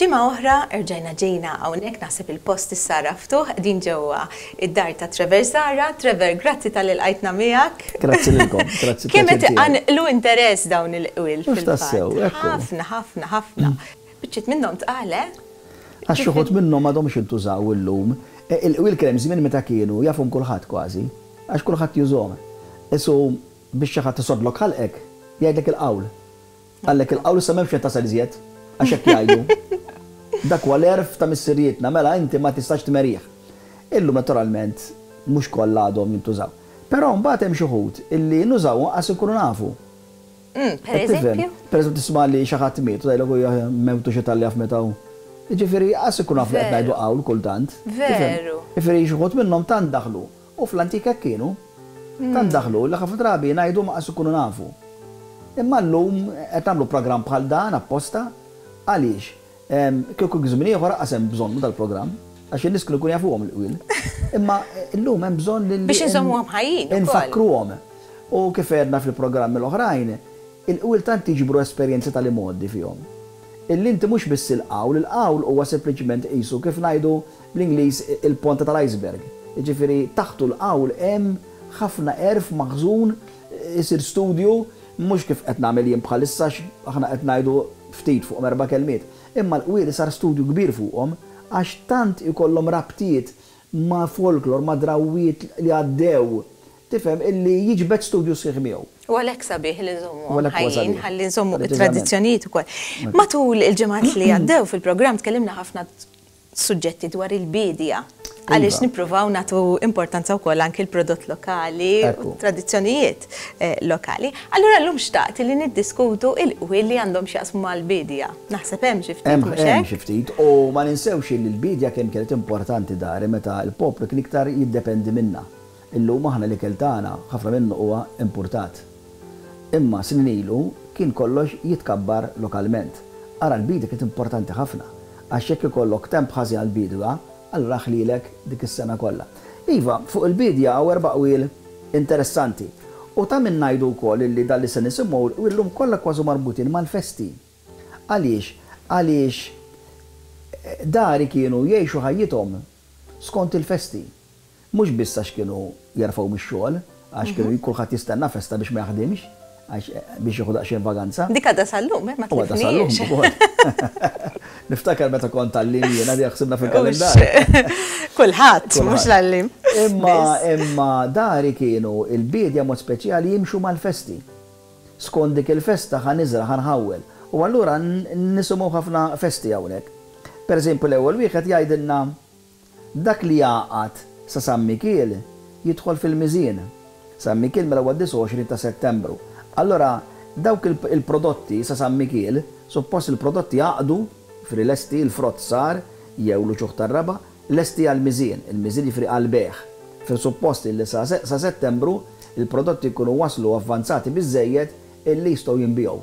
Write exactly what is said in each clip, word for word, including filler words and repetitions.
Ġimgħa oħra erġajna ġejna hawnhekk, naħseb il-post issa għaraftuh, din ġewwa id-dar ta' Trevor Zahra. Trevor, grazzi talli lqajtna miegħek. Grazzi lilkom, grazzi. Kemm qed iqanqlu interess dawn il-qwiel fil-tassew. Ħafna, ħafna, ħafna. Biċċiet minnhom tqal, eh? Għax uħud minnhom m'għadhomx intużaw illum. E, il-qwiel kien hemm żmien meta kienu jafhom kulħadd kważi, għax kulħadd jużhom. Isu biex xi ħadd isodlok ħalqek, jgħidlek il-qawl. Qallek il-qawl, issa m'hemmx fejn tasal iżjed, għax hekk jgħidu. Dak huwa l-għerf ta' missirijietna, mela inti ma tistax tmerih. Illum naturalment mhux kollha għadhom jintużaw. Però mbagħad hemm xi wħud illi nużawhom qas inkunu nafu. Mm, per eżempju? Per eżempju, tisma' li xi ħadd miet u tgħidlek huwa mewtu xi talli jaf meta hu. Jiġifieri qas ikun naf li qed ngħidu qawl kultant. Veru. Jiġifieri xi wħud minnhom tant daħlu. U fl-antik hekk kienu. Tant daħlu li ħafna drabi ngħidu ma qas ikunu nafu. Imma llum qed nagħmlu programm bħal dan apposta għaliex kieku żmien ieħor qas hemm bżonnu dal-programm, għax in-nies kienu jkunu jafuhom il-qwiel. Imma llum hemm bżonn li biex inżommuhom ħajjin. Infakruhom. U kif għedna fil-programmi l-oħrajn, il-qwiel tant jiġbru esperjenzi tal-imgħoddi fihom. Illi inti mhux biss il-qawl, il-qawl huwa sempliċement qisu kif ngħidu bl-Ingliż il-ponta tal-iceberg. Jiġifieri taħtu l-qawl hemm ħafna għerf maħżun, isir studju, mhux kif qed nagħmel jien bħalissa, aħna qed ngħidu ftit fuq erba' kelmiet. Imma l-qwiel sar studju kbir fuqhom għax tant ikollhom rabtiet ma' folklor, ma' drawwiet li għaddew, tifhem, illi jiġbed studju sħiħ miegħu. U għalhekk sabiħ li nżommu ħajjin, ħalli nżommu it-tradizzjonijiet ukoll. Matul il-ġimgħat li għaddew fil-programm tkellimna ħafna suġġetti dwar il-bidja, għaliex nippruvaw nagħtu importanza wkoll anki l-prodott lokali u tradizzjonijiet lokali. Allura llum xtaqt li niddiskutu il-qwiel li għandhom x'jaqsmu mal-bidja. Naħseb hemm xi ftit, mhux hekk? Hemm xi ftit, u ma ninsewx li l-bidja kemm kienet importanti dari meta l-poplu kien iktar jiddependi minna. Illum aħna l-ikel tagħna ħafna minnu huwa importat. Imma snin ilu kien kollox jitkabbar lokalment. Ara l-bidja kienet importanti ħafna, għax jekk ikollok temp ħażin għall-bidwa, allura ħlilek dik is-sena kollha. Iva, fuq il-bidja hawn erba' qwiel interessanti. U ta' min ngħidu wkoll illi dan li se nisimgħu illum kollha kważi marbutin mal-festi. Għaliex? Għaliex dari kienu jgħixu ħajjithom skont il-festi. Mhux biss għax kienu jerfgħu mix-xogħol, għax kienu kulħadd jistenna festa biex ma jaħdimx, għax biex jieħu daqsxejn vaganza. Dik għadha sal-lum, eh, ma tlifniex. Niftakar meta kont għallim jiena di ħsibna fil-kalendarju. Kulħadd, mhux l-għallim. Imma imma dari kienu il-bidja mod speċjali jimxu mal-festi. Skont dik il-festa ħa niżra', ħa nħawwel. U allura nisimgħu ħafna festi hawnhekk. Per eżempju l-ewwel wieħed jgħidilna dak li jaqgħad sa San Mikiel jidħol fil-miżien. San Mikiel mela huwa disgħa u għoxrin ta' Settembru. Allora dawk il-prodotti sa San Mikiel, suppost il-prodotti jaqdu fri lesti, il-frott sar, jew l-uċuħ tar-raba, lesti għal-miżien, il-miżien jifri għal-bejgħ. Fil-suppost li sa Settembru il-prodotti jkunu waslu avvanzati biżżejjed illi jistgħu jinbiegħu.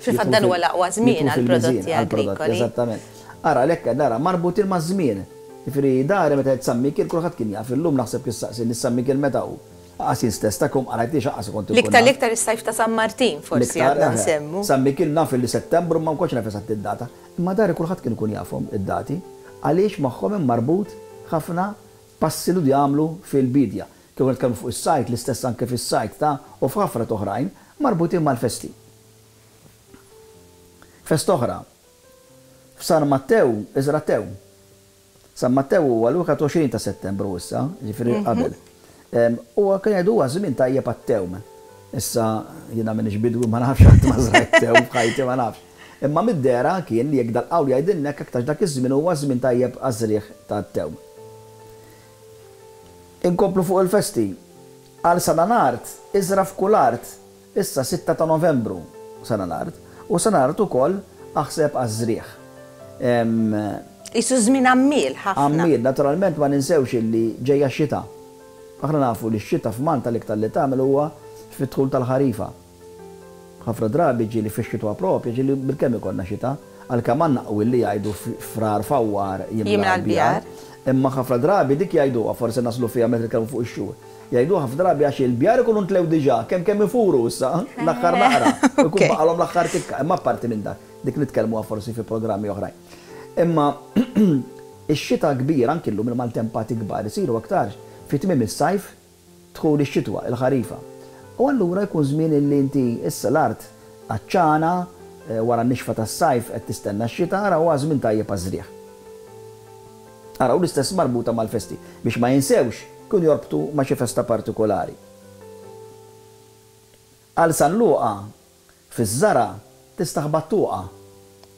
Fil-fatt dan huwa l-aqwa żmien għall-prodotti agrikoli. Eżattament. Ara għalhekk nara marbutin maż-żmien. Jiġifieri dari meta qed San Mikiel kulħadd kien jaf, illum naħseb kif saqsi nis San Mikiel meta hu. Qas jien stess ta' kum qarajtix qas kont ikun. L-iktar l-iktar is-sajf ta' San Martin forsi għadna nsemmu. San Mikiel naf li Settembru ma nkunx naf eżatt id-data. Imma dari kulħadd kien ikun jafhom id-dati għaliex magħhom hemm marbut ħafna passi li jagħmlu fil-bidja. Kif nitkellmu fuq is-sajt, l-istess anke fis-sajt ta' u f'ħafna oħrajn marbutin mal-festi. Fest oħra. F'San Mattew, iżra tew. San Mattew huwa l-wieħed u għoxrin ta' Settembru issa, ġifieri qabel. Huwa kien jgħidu huwa żmien tajjeb għat-tewm. Issa jiena m'iniex bidwi, ma nafx qatt ma żrajt tewm f'ħajti, ma nafx. Imma mid-dehra kien li jekk dal-qawl jgħidilna hekk aktarx dak iż-żmien huwa żmien tajjeb għaż-żrieħ tat-tewm. Inkomplu fuq il-festi. Għal San Anart, iżra f'kull art, issa sitta ta' Novembru San Anart, u San Anart ukoll aħseb għaż-żrieħ. Isu żmien għammiel ħafna. Għammiel, naturalment ma ninsewx illi ġejja x-xita. Aħna nafu li x-xita f'Malta l-iktar li tagħmel huwa fit-dħul tal-ħarifa. Ħafna drabi ġieli fix-xitwa propja, ġieli bilkemm ikollna xita, għalkemm għandna qwiel li jgħidu frar fawwar jimla l-bjar. Imma ħafna drabi dik jgħiduha, forsi naslu fiha meta nitkellmu fuq ix-xhur. Jgħiduha ħafna drabi għax il-bjar ikunu ntlew diġà, kemm kemm ifuru issa, l-aħħar naqra, ikun baqalhom l-aħħar tikka, imma apparti minn dak, dik nitkellmuha forsi fi programmi oħrajn. Imma ix-xita kbir anki llum il-maltempati kbar isiru aktarx fi tmiem is-sajf dħul ix-xitwa, il-ħarifa. U allura jkun żmien illi inti issa l-art għatxana wara n-nixfa tas-sajf qed tistenna x-xita, ara huwa żmien tajjeb għaż-żrigħ. Ara u l-istess marbuta mal-festi biex ma jinsewx kun jorbtu ma' xi festa partikolari. Għal San Luqa fiż-żara tistaħba t-tuqa.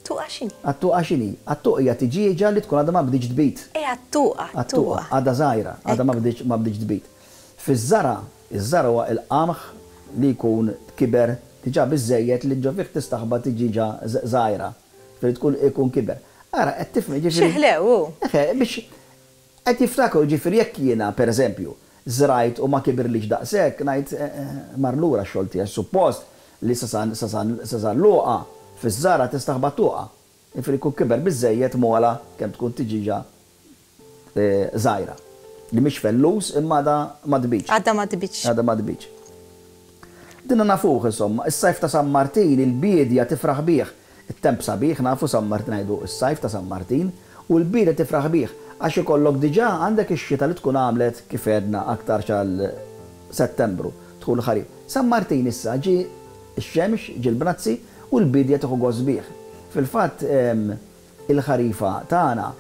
Tuqa x'inhi? Għat-tuqa x'inhi? Għat-tuqa hija tiġieġa li tkun għadha ma bdietx tbid. Eh, għat-tuqa, għat-tuqa. Għadha żgħira, għadha ma bdietx ma bdietx tbid. Fiż-żara, iż-żara huwa il-qamħ li jkun kiber diġà biżejjed li ġo fih tistaħba tiġieġa żgħira. Ġifieri tkun ikun kiber. Ara qed tifhem ġifieri. Xi ħlew hu. Eħe, biex qed jiftakru ġifieri jekk jiena pereżempju żrajt u ma kibirlix daqshekk ngħid mar lura x-xogħol tiegħi suppost li sa San sa San sa San Luqa fiż-żara tistaħba t-tuqa. Jiġifieri jkun kiber biżżejjed m'ogħla kemm tkun tiġieġa żgħira. Li mhix fellus imma għadha ma tbidx. Għadha ma tbidx. Għadha ma tbidx. Dinna nafuh insomma, is-sajf ta' San Martin il-biedja tifraħ bih. It-temp sabiħ nafu San Martin ngħidu s-sajf ta' San Martin u l-biedja tifraħ bih għax ikollok diġà għandek ix-xita li tkun għamlet kif għedna aktarx għal Settembru, dħul il-ħarif. San Martin issa ġie x-xemx, ġie l-bnazzi u l-biedja tieħu gost bih. Fil-fatt il-ħarifa tagħna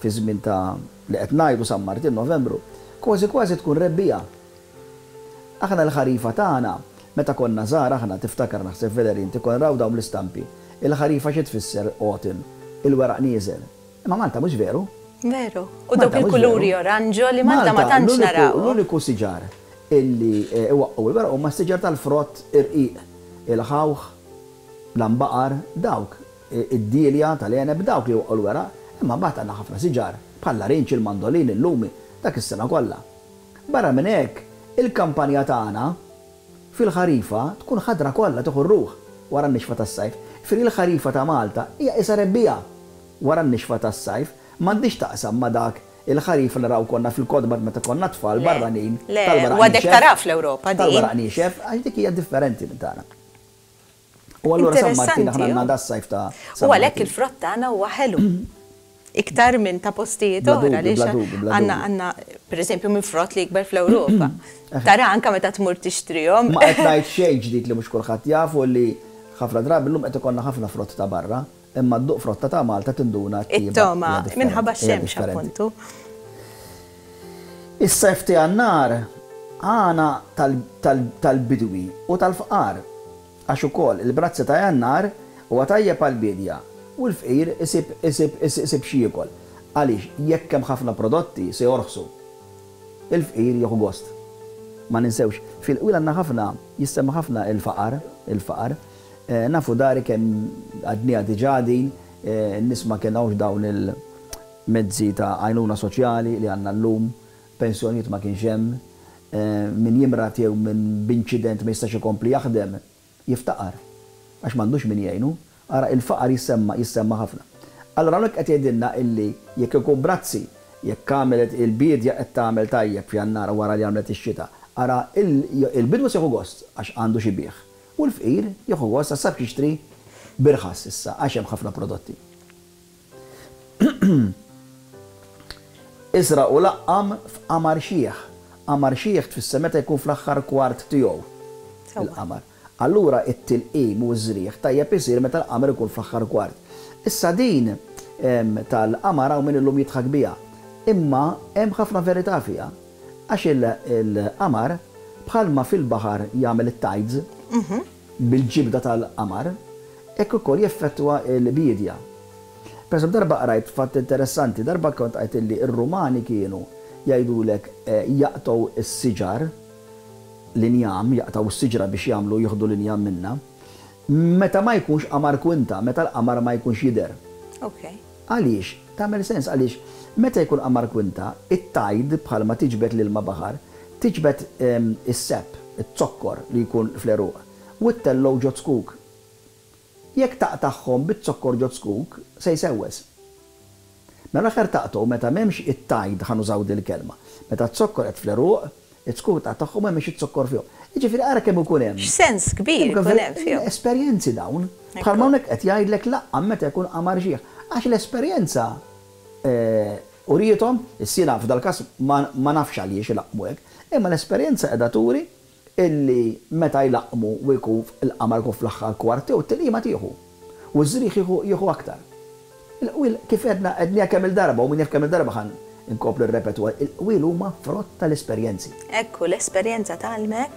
fi żmien ta' li qed ngħidu San Martin Novembru, kważi kważi tkun rebbiegħa. Aħna l-ħarifa tagħna meta konna żgħar aħna tiftakar naħseb Valerie inti konna naraw dawn l-istampi. Il-ħarifa xi tfisser autumn, il-weraq nieżel. Imma Malta mhux veru. Veru. U dawk il-kuluri oranġo li Malta ma tantx naraw. L-uniku siġar illi iwaqqgħu il-weraq huma s-siġar tal-frott irqiq, il-ħawħ, l-għanbaqar, dawk, id-dielja tal-għeneb dawk li jwaqqgħu l-weraq, imma mbagħad għandna ħafna siġar bħal-larinġ, il-mandolin, il-lumi, dak is-sena kollha. Barra minn hekk, il-kampanja tagħna fil-ħarifa tkun ħadra kollha tieħu r-ruħ wara n-nixfa tas-sajf. Ġifieri l-ħarifa ta' Malta hija qisha rebbiegħa wara n-nixfa tas-sajf, m'għandix taqsam ma' dak il-ħarifa li naraw konna fil-kotba meta konna tfal barranin tal-weraq. Le, għadek tara fl-Ewropa din. Tal-weraq niexef, għax dik hija differenti minn tagħna. U allura San Martin aħna għandna das-sajf ta' U għalhekk il-frott tagħna huwa ħelu. Iktar minn ta' postijiet oħra għaliex għandna għandna pereżempju minn frott li jikber fl-Ewropa. Tara anke meta tmur tixtrihom. Ma qed ngħid xejn ġdid li mhux kulħadd jaf u li ħafna drabi llum qed ikollna ħafna frott ta' barra, imma dduq frotta ta' Malta tinduna t-tjieba. It-togħma minħabba x-xemx appuntu. Is-sajf ta' Jannar għana tal-bidwi u tal-fqar. Għax ukoll il-brazzi ta' Jannar huwa tajjeb għall-biedja u l-fqir isib isib isib xi jiekol. Għaliex jekk hemm ħafna prodotti se jorħsu. Il-fqir jieħu gost. Ma ninsewx, fil-qwiel għandna ħafna, jissemma ħafna il-faqar, il-faqar. Nafu dari kemm għadniha diġà din, n-nies ma kienux dawn il-mezzi ta' għajnuna soċjali li għandna llum, pensjonijiet ma kienx hemm, min jimrad jew min b'inċident ma jistax ikompli jaħdem, jiftaqar għax m'għandux min jgħinu. Ara il-faqar jissemma jissemma ħafna. Allura hawnhekk qed jgħidilna illi jekk ikun brazzi, jekk għamlet il-biedja qed tagħmel tajjeb f'Jannar wara li għamlet ix-xita, ara il-bidwi se jieħu gost għax għandu xi bih. U l-fqir jieħu gost għax sab jixtri birħas issa għax hemm ħafna prodotti. Iżra' u laqqam f'qamar xiħ. Qamar xiħ tfisser meta jkun fl-aħħar kwart tiegħu il-qamar. Allura it-tilqim u ż-żrigħ tajjeb isir meta l-qamar ikun fl-aħħar kwart. Issa din tal-qamar hawn min illum jidħak biha. Imma hemm ħafna verità fiha. Għax il-qamar bħalma fil-baħar jagħmel it-tides bil-ġibda tal-qamar, hekk ukoll jeffettwa l-biedja. Per eżempju, darba qrajt fatt interessanti, darba kont qrajt illi r-Rumani kienu jgħidulek jaqtgħu s-siġar, l-injam, jaqtgħu s-siġra biex jagħmlu jieħdu l-injam minnha, meta ma jkunx qamar kwinta, meta l-qamar ma jkunx jidher. Għaliex? Tagħmel sens għaliex meta jkun qamar kwinta, it-tide bħalma tiġbed l-ilma baħar, tiġbed is-sepp, iz-zokkor li jkun fl-għeruq, u ttellgħu ġo zkuk. Jekk taqtagħhom biz-zokkor ġo zkuk, se jsewwes. Mela l-aħħar taqtgħu meta m'hemmx it-tide, ħa nużaw dil-kelma. Meta z-zokkor qed fl-għeruq, iz-zkuk taqtagħhom m'hemmx iz-zokkor fihom. Jiġifieri ara kemm ikun hemm. X'sens kbir ikun hemm fihom. Esperjenzi dawn. Bħalma hawnhekk qed jgħidlek laqqam meta jkun qamar xiħ. Għax l-esperjenza uriethom, is-sina f'dal-każ ma nafx għaliex ilaqqmu hekk, imma l-esperjenza qiegħda turi illi meta jlaqqmu u jkun il-qamar jkun fl-aħħar kwart tiegħu t-tilqima tieħu. U ż-żrigħ jieħu aktar. Il-qwiel kif għedna għedniha kemm il-darba u min jaf kemm il-darba ħan inkomplu nirrepetuha, il-qwiel huma frott tal-esperjenzi. Ekku, l-esperjenza tgħallmek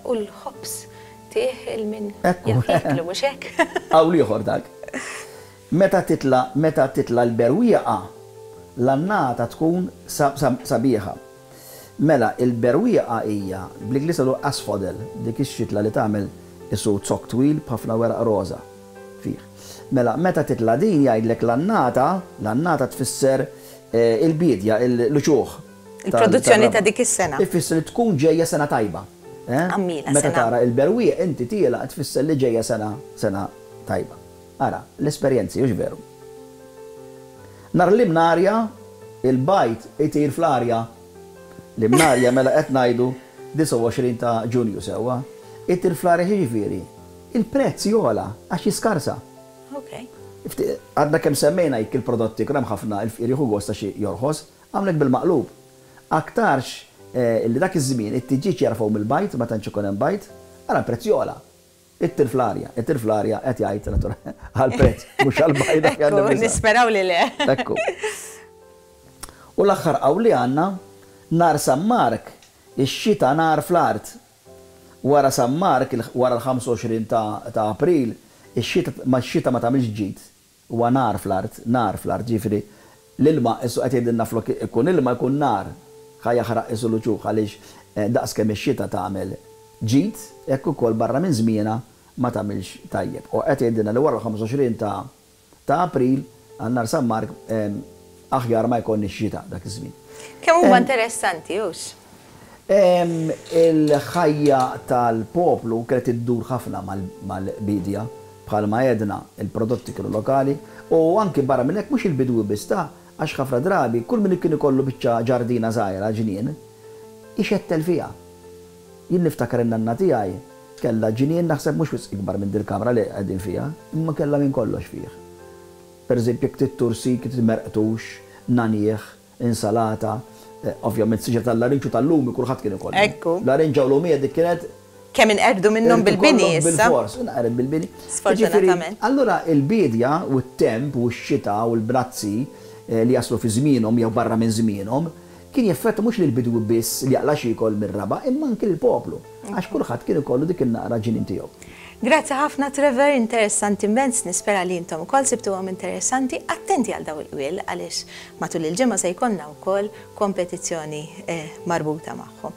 u l-ħobż tih il-min jaf jieklu mhux hekk. Hawn ieħor dak. Meta titla meta titla l-berwieqa, l-annata tkun sabiħa. Mela, il-berwieqa hija bl-Ingliż għadu asphodel, dik ix-xitla li tagħmel isu zokk twil b'ħafna weraq roża fih. Mela, meta titla din jgħidlek l-annata, l-annata tfisser il-bidja, l-uċuħ. Il-produzzjoni ta' dik is-sena. Ifisser li tkun ġejja sena tajba. Għammila. Meta tara il-berwieq inti tiela tfisser li ġejja sena sena tajba. Ara, l-esperjenzi, hux veru. Nar l-imnarja, il-bajd itir fl-arja. L-imnarja mela qed ngħidu disgħa u għoxrin ta' Ġunju sewwa. Itir fl-arja jiġifieri, il-prezz jogħla għax jiskarsa. Għadna kemm semmejna jekk il-prodotti kien hemm ħafna il-fqir jieħu gost għax jorħos, għamlek bil-maqlub. Aktarx li dak iż-żmien it-tiġieġ jarfgħu mill-bajd, ma tantx ikun hemm bajd, ara l-prezz jogħla. Ittir fl-arja, ittir fl-arja qed jgħid naturalment għall-prezz, mhux għall-bajd. Ekku, nisperaw li le. Ekku. U l-aħħar qawl li għandna, nar San Mark, ix-xita nar fl-art. Wara San Mark, wara l-ħamsa u għoxrin ta' April, ix-xita ma x-xita ma tagħmilx ġid. Huwa nar fl-art, nar fl-art, ġifieri l-ilma issu qed jgħidilna flok ikun ilma jkun nar, ħa jaħraq isu l-uċuħ għaliex daqs kemm ix-xita tagħmel ġid, hekk ukoll barra minn żmienha ma tagħmilx tajjeb. U qed jgħidilna li wara l-ħamsa u għoxrin ta' April għal nar San Mark aħjar ma jkollniex xita dak iż-żmien. Kemm huma interessanti, hux? Il-ħajja tal-poplu kienet iddur ħafna mal-bidja, bħalma għedna il-prodotti kienu lokali u anki barra minn hekk mhux il-bidwi biss ta' għax ħafna drabi kull min kien ikollu biċċa ġardina żgħira ġnien ixettel fiha. Jien niftakar in-nanna tiegħi kellha ġnien naħseb mhux wisq ikbar minn dil-kamra li qegħdin fiha, imma kellha minn kollox fih. Per eżempju, jekk trid tursi, kif trid merqtux, nanieħ, insalata, ovvjament siġra tal-larinġ u tal-lumi kulħadd kien ikollu. Ekku. Larinġa u lumija dik kienet Kemm inqerdu minnhom bil-bini issa. Bil-fors, inqered bil-bini. Sfortunatament. Allura il-bidja u t-temp u x-xita u l-brazzi li jaslu fi żmienhom jew barra minn żmienhom kien jeffetta mhux lil bidwi biss li jaqla xi jkol mir-raba' imma anki lill-poplu għax kulħadd kien ikollu dik in-naqra ġnien tiegħu. Grazzi ħafna Trevor, interessanti immens, nispera li intom ukoll sibtuhom interessanti. Attenti għal daw il-qwiel għaliex matul il-ġimgħa se jkollna wkoll kompetizzjoni marbuta magħhom.